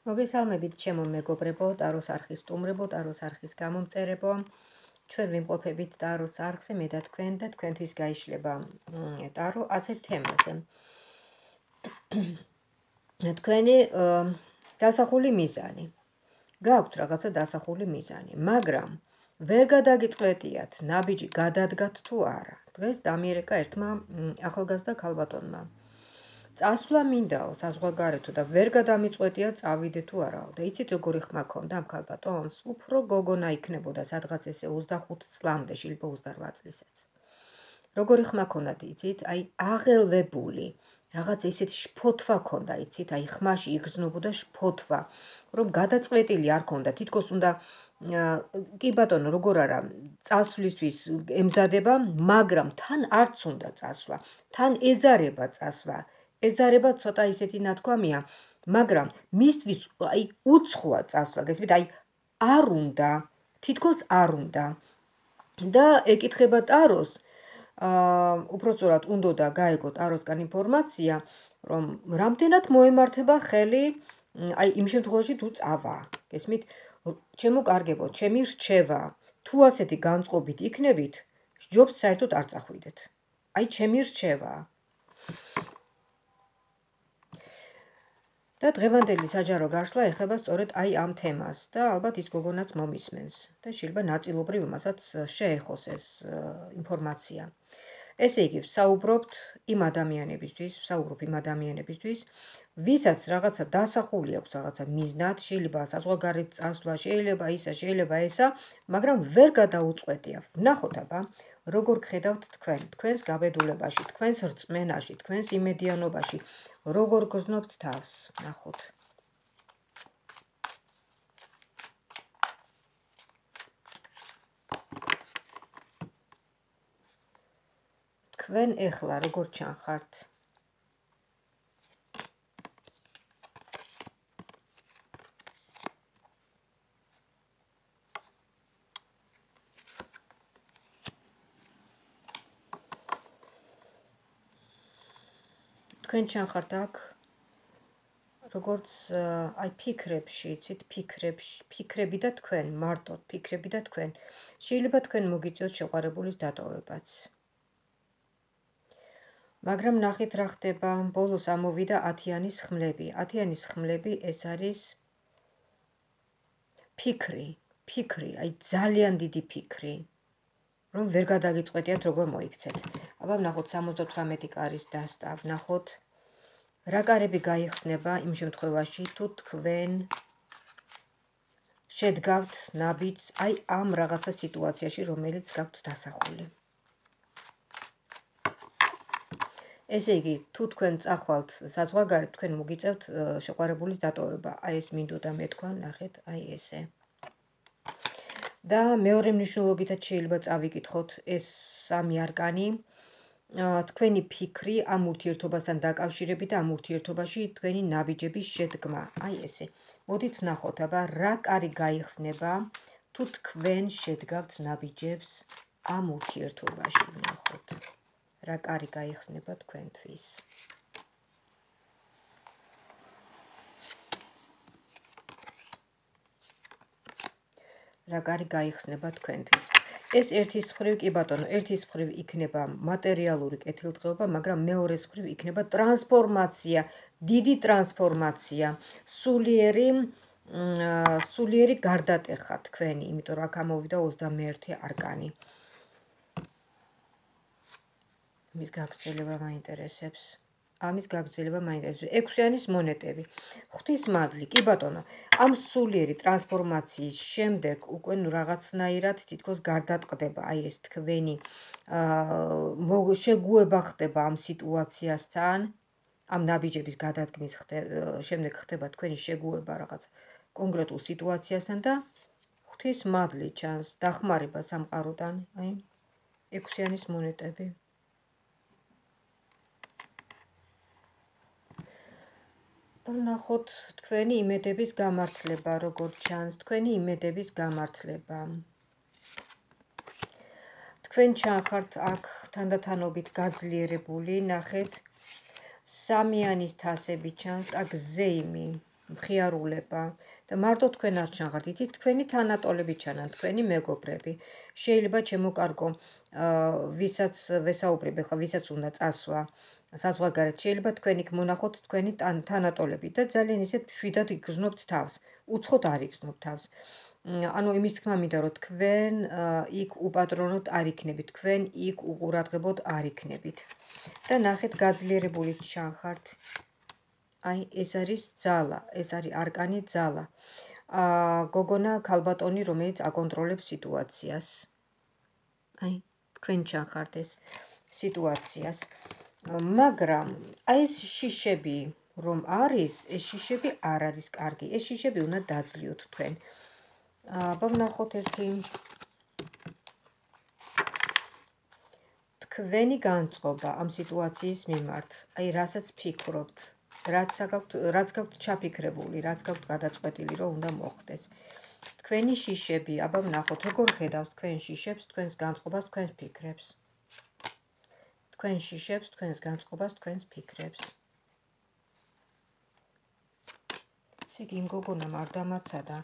მოგესალმებით ჩემო მეგობრებო, ტაროს არხის სტუმრებო, ტაროს არხის გამომწერებო. ჩვენ ვიმყოფებით ტაროს არხზე, მე და თქვენთვის გაიშლება ტარო ასეთ თემაზე. თქვენი დასახული მიზანი. გაქვთ რაღაცა დასახული მიზანი, მაგრამ ვერ გადაგიწყვეტიათ, ნაბიჯი გადადგათ თუ არა. დღეს დამიერეკა ერთმა ახალგაზრდა ქალბატონმა. წასვლა მინდაო საზღვარგარეთო და ვერ გადამიწყვეტია წავიდე თუ არაო. და იცით როგორი ხმა ქონდა ამ ქალბატონს? უფრო გოგონა იქნებოდა სადღაც ესე 25 წლამდე, შეიძლება 28 წლისაც. როგორი ხმა ქონდათ იცით? აი აღელვებული, რაღაც ესეთი შფოთვა ქონდა იცით? აი ხმაში იგრძნობოდა შფოთვა, რომ გადაწყვეტილი არ ქონდა, თითქოს უნდა კი ბატონო, როგორ არა, წასვლისთვის ემზადება, მაგრამ თან არც უნდა წასვლა, თან ეზარება წასვლა. ეზარება ცოტა ისეთი ნათქვამია, მაგრამ მისთვის აი უცხოა წასვლა, გესმით, აი არ უნდა, თითქოს არ უნდა. და ეკითხება ტაროს, უпростоრად უნდა გაეგო ტაროსგან ინფორმაცია, რომ რამდენად მოემართება ხელი, აი იმ შემთხვევაში თუ წავა, გესმით, ჩემო კარგებო, ჩემი რჩევა, თუ ასეთი განწყობით იქნებით, ჯობს საერთოდ არ წახვიდეთ. აი ჩემი რჩევაა. და დღევანდელი საჯარო გაშლა ეხება სწორედ აი ამ თემას და ალბათ ის გოგონაც მომისმენს და შეიძლება ნაწილობრივ მასაც შეეხოს ეს ინფორმაცია. ესე იგი, ვსაუბრობ იმ ადამიანებისთვის, ვისაც რაღაცა დასახული აქვს რაღაცა მიზნად, შეიძლება საზღვარგარეთ წასვლა, შეიძლება ისა, შეიძლება ესა, მაგრამ ვერ გადაუწყვეტია. ვნახოთ აბა, როგორ გხედავთ თქვენ, თქვენს გაბედულებაში, თქვენს რწმენაში, თქვენს იმედიანობაში, როგორ გრძნობთ თავს, ნახოთ. თქვენ ეხლა როგორ ჩანხართ? თქვენ ჩანხართ აქ, როგორც აი ფიქრებში, იცით, ფიქრები და თქვენ, მარტო ფიქრები და თქვენ. შეიძლება თქვენ მოგიწიოთ შეყვარებულის დატოვებაც. მაგრამ ნახეთ რა ხდება, ბოლოს ამოვიდა 10-იანის ხმლები. 10-იანის ხმლები ეს არის ფიქრი, აი ძალიან დიდი ფიქრი, რომ ვერ გადაგიწყვეტიათ როგორ მოიქცეთ. აბა ვნახოთ 78 კარის დასტა, ვნახოთ რა კარები გაიხსნება იმ შემთხვევაში, თუ თქვენ შედგავთ ნაბიჯს აი ამ რაღაცა სიტუაციაში, რომელიც გაქვთ დასახული. ესე იგი, თუ თქვენ წახვალთ საზღვარგარეთ, თქვენ მოგიწევთ შეყვარებულის დატოვება. აი ეს მინდოდა მეთქვა, ნახეთ, აი ესე. და მეორე მნიშვნელობითაც შეიძლება წავიკითხოთ ეს სამი არკანი. თქვენი ფიქრი ამ ურთიერთობასთან დაკავშირებით და ამ ურთიერთობაში თქვენი ნაბიჯების შედგმა. აი ესე. მოდით ვნახოთ, აბა რა კარი გაიხსნება, თუ თქვენ შედგავთ ნაბიჯებს ამ ურთიერთობაში, ვნახოთ. რა კარი გაიხსნება თქვენთვის. რა კარი გაიხსნება თქვენთვის. ეს ერთის მხრივ, კი ბატონო, ერთის მხრივ იქნება მატერიალური კეთილდღეობა, მაგრამ მეორეს მხრივ იქნება ტრანსფორმაცია, დიდი ტრანსფორმაცია, სულიერი გარდატეხა თქვენი, იმიტომ რომ აქ ამოვიდა 21 არკანი. ამის გაგრძელება მაინტერესებს. 6-იანის მონეტები. ღვთისმადლი, კი ბატონო, ამ სულიერი ტრანსფორმაციის შემდეგ უკვე რაღაცნაირად თითქოს გარდატყდება აი ეს თქვენი შეგუება ხდება ამ სიტუაციასთან, ამ ნაბიჯების გადადგმის შემდეგ ხდება თქვენი შეგუება რაღაც კონკრეტულ სიტუაციასთან და ღვთისმადლი ჩანს, დახმარება სამყაროდან, აი 6-იანის მონეტები. ვნახოთ თქვენი იმედების გამართლება, როგორ ჩანს, თქვენი იმედების გამართლება. თქვენ ჩანხართ აქ თანდათანობით გაძლიერებული, ნახეთ, 3-იანის თასები ჩანს, აქ ზეიმი, მხიარულება და მარტო თქვენ არ ჩანხართ, იცით, თქვენი თანატოლები ჩანან, თქვენი მეგობრები. შეიძლება ჩემოკარგო, ვისაც ვესაუბრებ, ახლა ვისაც უნდა წასვლა საზღვარგარეთ, შეიძლება თქვენ იქ მონახოთ თქვენი თანატოლები და ძალიან ისეთ მშვიდად იგრძნობთ თავს, უცხოდ არ იგრძნობთ თავს. ანუ იმის თქმა მინდა, რომ თქვენ იქ უპატრონოდ არ იქნებით, თქვენ იქ უყურადღებოდ არ იქნებით. და ნახეთ, გაძლიერებული ჩანხართ. აი, ეს არის ძალა, ეს არის არკანი ძალა. გოგონა ქალბატონი, რომელიც აკონტროლებს სიტუაციას. აი, თქვენ ჩანხართ ეს სიტუაციას. მაგრამ აი ეს შიშები რომ არის, ეს შიშები არ არის კარგი. ეს შიშები უნდა დაძლიოთ თქვენ. აბა ვნახოთ ერთი თქვენი განწყობა ამ სიტუაციის მიმართ. აი, რასაც ფიქრობთ, რაც გაქვთ ჩაფიქრებული, რაც გაქვთ გადაწყვეტილი, რომ უნდა მოხდეს. თქვენი შიშები, აბა ვნახოთ, როგორ ხედავს თქვენ შიშებს, თქვენს განწყობას, თქვენს ფიქრებს. თქვენ შიშებს, თქვენს განწყობას, თქვენს ფიქრებს. ესე იგი, იმ გოგონამ არ დამაცადა,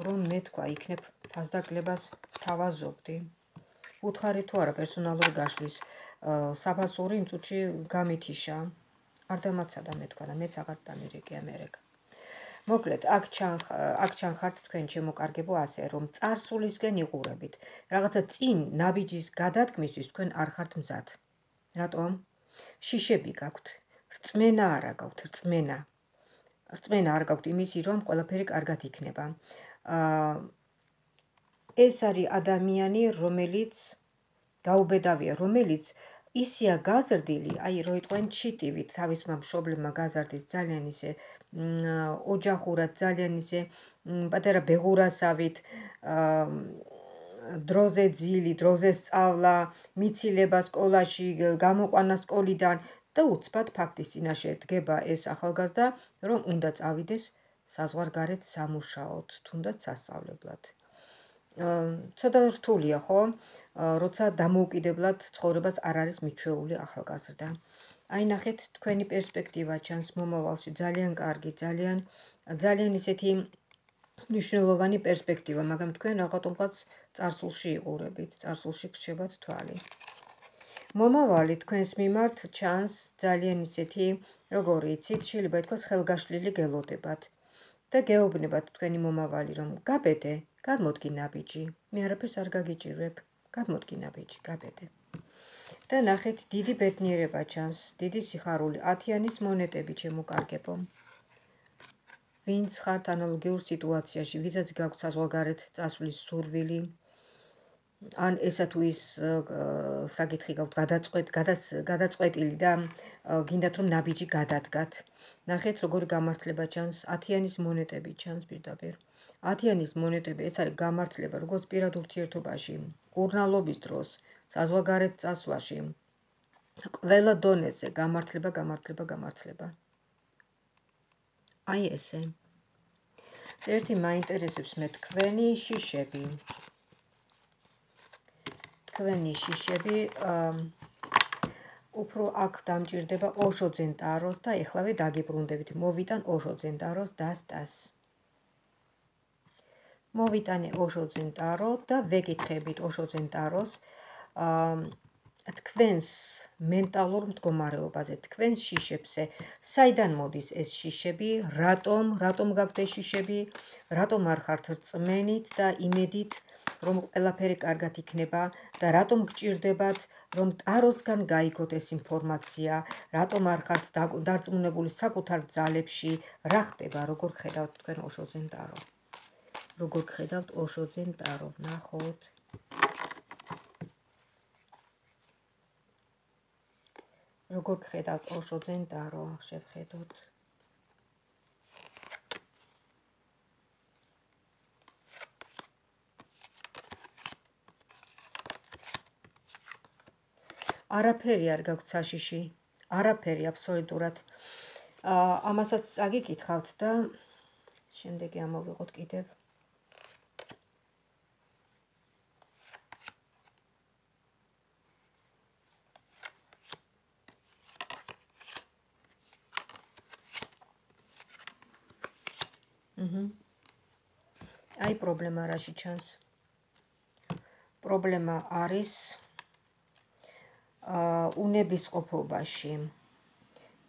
რომ მე თქვა, იქნებ ფასდაკლებას თავაზობდი. უთხარი თუ არა პერსონალური გაშლის საფასური იმ წუთში გამითიშა. არ დამაცადა მე თქვა და მეც აღარ დამირეკე ამერიკა. მოკლედ, აქ ჩანხართ თქვენ შემოკარგებო ასე, რომ წარსულისკენ იყურებით. რაღაცა წინ ნაბიჯის გადადგმისთვის თქვენ არ ხართ მზად. რატომ? შიშები გაქვთ. რწმენა არა გაქვთ, რწმენა. რწმენა არ გაქვთ იმისი, რომ ყველაფერი კარგად იქნება. ეს არის ადამიანი, რომელიც გაუბედავია, რომელიც ისია გაზრდილი, აი რო იტყვენ ჩიტივით, თავისმა მშობლებმა გაზარდის ძალიან ისე ოჯახურად, ძალიან ისე პატარა ბეღურასავით, დროზე ძილი, დროზე სწავლა, მიცილება სკოლაში, გამოყვანა სკოლიდან და უცბად ფაქტის წინაშე დგება ეს ახალგაზრდა, რომ უნდა წავიდეს საზღვარგარეთ სამუშაოდ, თუნდაც სასწავლებლად. ცოტა რთულია, ხო? როცა დამოუკიდებლად ცხოვრებას არ არის მიჩვეული ახალგაზრდა. აი, ნახეთ, თქვენი პერსპექტივა ჩანს მომავალში, ძალიან კარგი, ძალიან ისეთი მნიშვნელოვანი პერსპექტივა, მაგრამ თქვენ რაღაცნაირად წარსულში იყურებით, წარსულში გრჩებათ თვალი. მომავალი თქვენს მიმართ ჩანს ძალიან ისეთი, როგორი იცით, შეიძლება ითქვას ხელგაშლილი გელოდებათ და გეუბნებათ თქვენი მომავალი, რომ გაბედე, გადმოდგი ნაბიჯი, მე არაფერს არ გაგიჭირვებ, გადმოდგი ნაბიჯი, გაბედე. და ნახეთ, დიდი ბედნიერება ჩანს, დიდი სიხარული, 10-იანის მონეტები ჩემოკარგებო. ვინც ხართ ანალოგიურ სიტუაციაში, ვისაც გაქვთ საზღვარგარეთ წასვლის სურვილი, ან ესა თუ ის საკითხი გაქვთ გადაწყვეტილი და გინდათ რომ ნაბიჯი გადადგათ. ნახეთ, როგორი გამართლება ჩანს, 10-იანის მონეტები ჩანს პირდაპირ. 10-იანის მონეტები, ეს არის გამართლება, როგორც პირად ურთიერთობაში, კურნალობის დროს, საზღვარგარეთ წასვლაში, ყველა დონეზე გამართლება. აი ესე. ერთი მაინტერესებს მე თქვენი შიშები. თქვენი შიშები უფრო აქ დამჭირდება ოშოძენ ტაროს და ეხლავე დაგიბრუნდებით. მოვიტან ოშოძენ ტაროს დასტას. მოვიტანე ოშოძენ ტარო და ვეკითხებით ოშოძენ ტაროს თქვენს მენტალურ მდგომარეობაზე, თქვენს შიშებზე, საიდან მოდის ეს შიშები, რატომ გაქვთ ეს შიშები, რატომ არ ხართ რწმენით და იმედით, რომ ყველაფერი კარგად იქნება და რატომ გჭირდებათ, რომ ტაროსგან გაიგოთ ეს ინფორმაცია, რატომ არ ხართ დარწმუნებული საკუთარ ძალებში, რა ხდება, როგორ ხედავთ თქვენ ოშოძენ ტარო. როგორ ხედავთ ოშოძენ ტარო, ვნახოთ. როგორ ხედავთ ოშოძენ ტარო, შევხედოთ. არაფერი არ გაქვთ საშიში, არაფერი აბსოლუტურად. ამასაც აგიკითხავთ და შემდეგი ამოვიღოთ კიდევ. აი პრობლემა რაში ჩანს? პრობლემა არის უნების ყოფობაში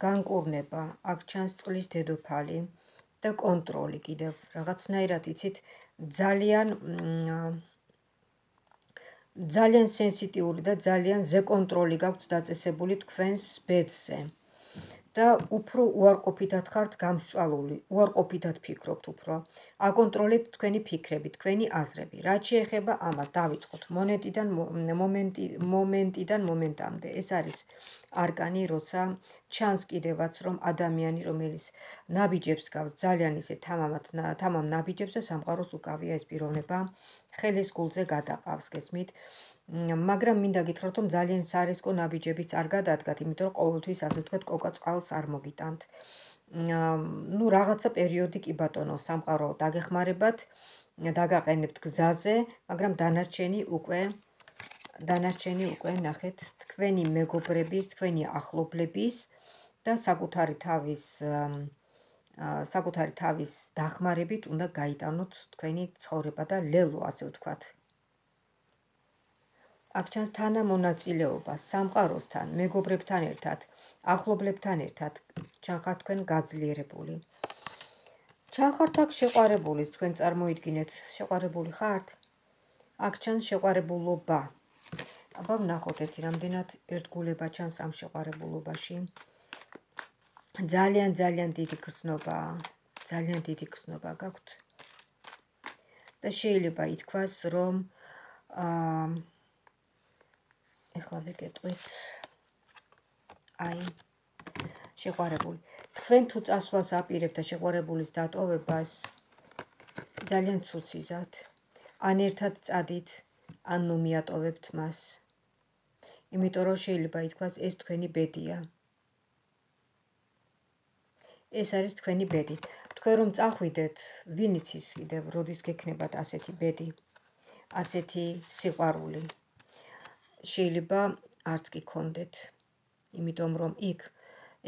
განკურნება, აქ ჩანს წყლის დედოფალი და კონტროლი კიდევ რაღაცნაირად იცით ძალიან სენსიტიური და ძალიან ზეკონტროლი გაქვთ დაწესებული თქვენს ბედზე და უფრო უარყოფითად ხართ გამსჭვალული, უარყოფითად ფიქრობთ უფრო. აკონტროლებთ თქვენი ფიქრები, თქვენი აზრები. რაც შეეხება ამას, დავიწყოთ მომენტიდან მომენტამდე. ეს არის არკანი, როცა ჩანს კიდევაც, რომ ადამიანი, რომელიც ნაბიჯებს გავს, ძალიან ისე თამამ ნაბიჯებს და სამყაროს უკავია ეს პიროვნება, ხელის გულზე გადაყავს, გესმით? მაგრამ მინდა გითხრათ, რომ ძალიან სარისკო ნაბიჯებიც არ გადადგათ, იმიტომ რომ ყოველთვის ასე ვთქვათ, კოკა-წყალს არ მოგიტანთ. ნუ რაღაცა პერიოდი კი ბატონო, სამყარო დაგეხმარებათ, დაგაყენებთ გზაზე, მაგრამ დანარჩენი უკვე ნახეთ თქვენი მეგობრების, თქვენი ახლობლების და საკუთარი თავის დახმარებით უნდა გაიტანოთ თქვენი ცხოვრება და ლელო, ასე ვთქვათ. აქ ჩანს თანამონაწილეობა სამყაროსთან, მეგობრებთან ერთად, ახლობლებთან ერთად, ჩანხართ თქვენ გაძლიერებული. ჩანხართ აქ შეყვარებული, თქვენ წარმოიდგინეთ, შეყვარებული ხართ? აქ ჩანს შეყვარებულობა. აბა ვნახოთ ერთი რამდენად ერთგულება ჩანს ამ შეყვარებულობაში. ძალიან დიდი გრძნობა გაქვთ. და შეიძლება ითქვას, რომ ეხლა ვეკეტყვით, აი, შეყვარებული. თქვენ თუ წასვლას აპირებთ და შეყვარებულის დატოვებას, ძალიან ცუციზავთ. ან ერთად წადით, ან ნუ მიატოვებთ მას. იმიტომ რომ შეიძლება ითქვას, ეს თქვენი ბედია. ეს არის თქვენი ბედი. თქვენ რომ წახვიდეთ, ვინ იცის კიდევ, როდის გექნებათ ასეთი ბედი, ასეთი სიყვარული. შეიძლება არც კი გქონდეთ, იმიტომ რომ იქ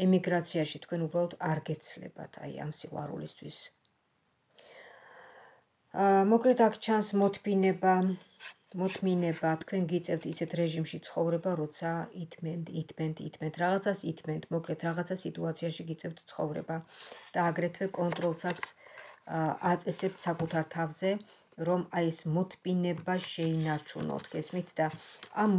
ემიგრაციაში თქვენ უბრალოდ არ გეცლებათ აი ამ სიყვარულისთვის. მოკლედ აქ ჩანს მოთმინება, თქვენ გიწევთ ისეთ რეჟიმში ცხოვრება, როცა ითმენთ, რაღაცას ითმენთ, მოკლედ რაღაცა სიტუაციაში გიწევთ ცხოვრება და აგრეთვე კონტროლსაც აწესებთ საკუთარ თავზე, რომ აი ეს მოთმინება შეინარჩუნოთ, გესმით და ამ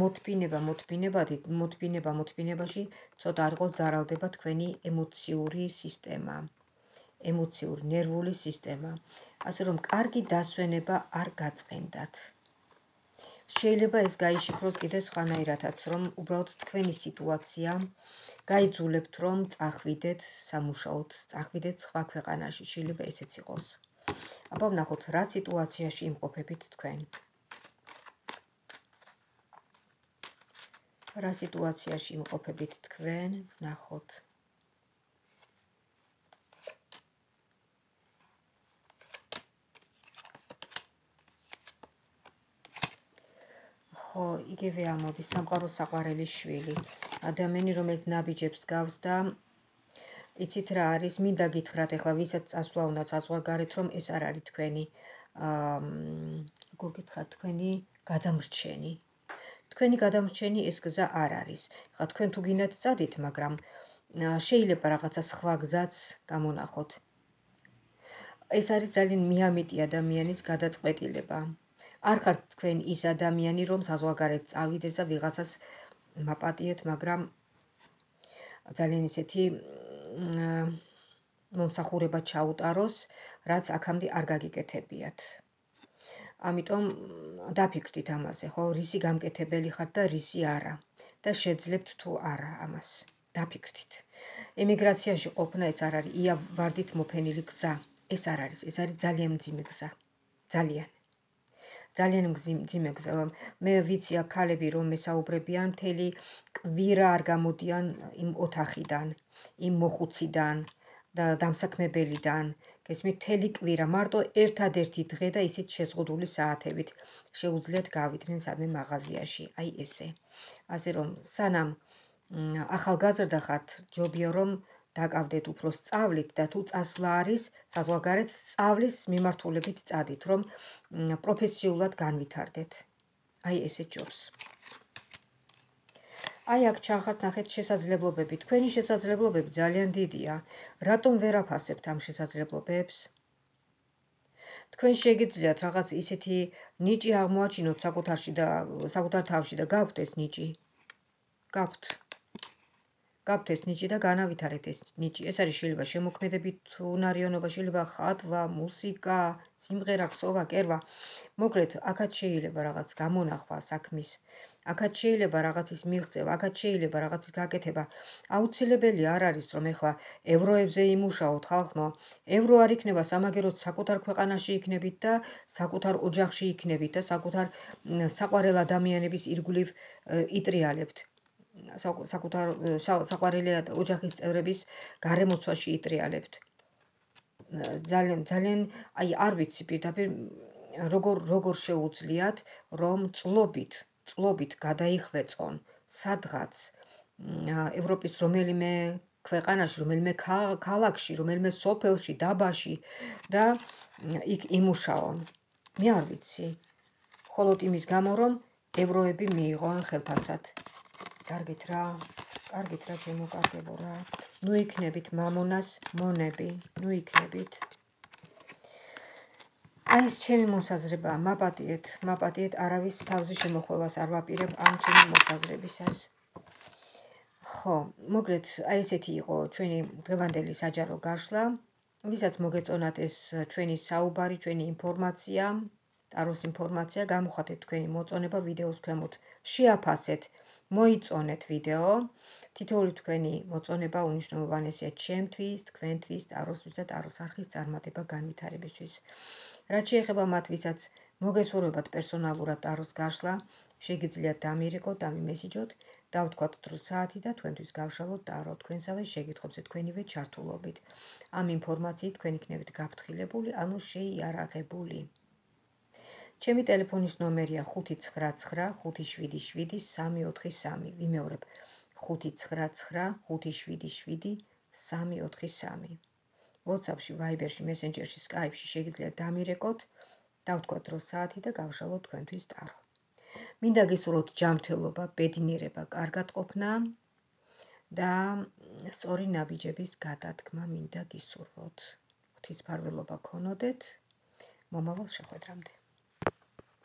მოთმინებაში ცოტა არ იყოს ზარალდება თქვენი ემოციური სისტემა, ემოციური ნერვული სისტემა, ასე რომ კარგი დასვენება არ გაწყენდათ. შეიძლება ეს გაიშიფროს კიდევ სხვანაირადაც, რომ უბრალოდ თქვენი სიტუაცია გაიძულებთ, რომ წახვიდეთ სამუშაოდ, წახვიდეთ სხვა ქვეყანაში, შეიძლება ესეც იყოს. აბა ვნახოთ, რა სიტუაციაში იმყოფებით თქვენ. რა სიტუაციაში იმყოფებით თქვენ, ვნახოთ. ხო, იგივე ამოდის სამყაროს საყვარელის შვილი. ადამიანი, რომელიც ნაბიჯებს გავს და იცით რა არის, მინდა გითხრათ, ეხლა ვისაც წასვლა უნდა საზღვარგარეთ, რომ ეს არ არის თქვენი, როგორ გითხრათ, თქვენი გადამრჩენი. თქვენი გადამრჩენი ეს გზა არ არის. ეხლა თქვენ თუ გინდათ წადით, მაგრამ შეიძლება რაღაცა სხვა გზაც გამონახოთ. ეს არის ძალიან მიამიტი ადამიანის გადაწყვეტილება. არ ხართ თქვენ ის ადამიანი, რომ საზღვარგარეთ წავიდეს და ვიღაცას მაპატიეთ, მაგრამ ძალიან ისეთი მომსახურება ჩაუტაროს, რაც აქამდე არ გაგიკეთებიათ. ამიტომ დაფიქრდით ამაზე, ხო, რისი გამკეთებელი ხართ და რისი არა და შეძლებთ თუ არა ამას. დაფიქრდით. ემიგრაციაში ყოფნა ეს არ არის იავარდით მოფენილი გზა. ეს არ არის, ეს არის ძალიან მძიმე გზა. ძალიან მძიმე გზა. მე ვიცი აქ ქალები რომ მესაუბრებიან, მთელი კვირა არ გამოდიან იმ ოთახიდან, იმ მოხუციდან და დამსაქმებელიდან. გესმით, მთელი კვირა, მარტო ერთადერთი დღე და ისიც შეზღუდული საათებით შეუძლიათ გავიდნენ სადმე მაღაზიაში. აი ესე. ასე რომ სანამ ახალგაზრდა ხართ, ჯობია რომ დაკავდეთ უფრო სწავლით და თუ წასვლა არის საზღვარგარეთ სწავლის მიმართულებით წადით, რომ პროფესიულად განვითარდეთ. აი ესე ჯობს. აი აქ ჩახართ ნახეთ შესაძლებლობები. თქვენი შესაძლებლობები ძალიან დიდია. რატომ ვერ აფასებთ ამ შესაძლებლობებს? თქვენ შეგიძლიათ რაღაც ისეთი ნიჭი აღმოაჩინოთ საკუთარ თავში და გაქვთ ეს ნიჭი. გაქვთ ეს ნიჭი და განავითარეთ ეს ნიჭი. ეს არის შეიძლება შემოქმედებით უნარიანობა, შეიძლება ხატვა, მუსიკა, სიმღერა, ქსოვა, კერვა. მოკლედ, აქაც შეიძლება რაღაც გამონახვა საქმის, აქაც შეიძლება რაღაცის მიღწევა, აქაც შეიძლება რაღაცის გაკეთება. აუცილებელი არ არის, რომ ეხლა ევროებზე იმუშაოთ ხალხო. ევრო არ იქნება სამაგეროდ საკუთარ ქვეყანაში იქნებით და საკუთარ ოჯახში იქნებით და საკუთარ საყვარელ ადამიანების ირგვლივ იტრიალებთ. საკუთარ საყვარელი ოჯახის წევრების გარემოცვაში იტრიალებთ. ძალიან აი არ ვიცი პირდაპირ როგორ შეუძლიათ რომ წლობით გადაიხვეწონ სადღაც ევროპის რომელიმე ქვეყანაში, რომელიმე ქალაქში, რომელიმე სოფელში, დაბაში და იქ იმუშაონ. მე არ ვიცი. მხოლოდ იმის გამო რომ ევროები მიიღონ ხელფასად. კარგით რა ჩემო კარგებო რა. ნუ იქნებით მამონას მონები, ნუ იქნებით. აი ეს ჩემი მოსაზრება, მაპატიეთ, არავის თავზე შემოხვევას არ ვაპირებ ამ ჩემი მოსაზრებისას. ხო, მოკლედ, აი ესეთი იყო ჩვენი დღევანდელი საჯარო გაშლა, ვისაც მოგეწონათ ეს ჩვენი საუბარი, ჩვენი ინფორმაცია, ტაროს ინფორმაცია, გამოხატეთ თქვენი მოწონება ვიდეოს ქვემოთ, შეაფასეთ, მოიწონეთ ვიდეო, თითოეული თქვენი მოწონება უნიშნულოვანესია ჩემთვის, თქვენთვის, ტაროსთვის და ტაროს არხის წარმატება განვითარებისთვის. რაც შეეხება მათ, ვისაც მოგესურვებათ პერსონალურად ტაროს გაშლა, შეგიძლიათ დამირეკოთ, დამიმესიჯოთ, დავთქვათ დრო საათი და თქვენთვის გავშალოთ ტარო თქვენსავე შეკითხვებზე თქვენივე ჩართულობით. ამ ინფორმაციით თქვენ იქნებით გაფრთხილებული, ანუ შეიარაღებული. ჩემი ტელეფონის ნომერია 599577343. ვიმეორებ 599577343. WhatsApp-ში, Viber-ში, Messenger-ში, Skype-ში შეგიძლიათ დამირეკოთ, დავთქვათ დრო საათი და გავშალოთ თქვენთვის ტარო. მინდა გისურვოთ ჯანმრთელობა, ბედნიერება, კარგადყოფნა და სწორი ნაბიჯების გადადგმა მინდა გისურვოთ. ღვთისმფარველობა გქონოდეთ. მომავალ შეხვედრამდე.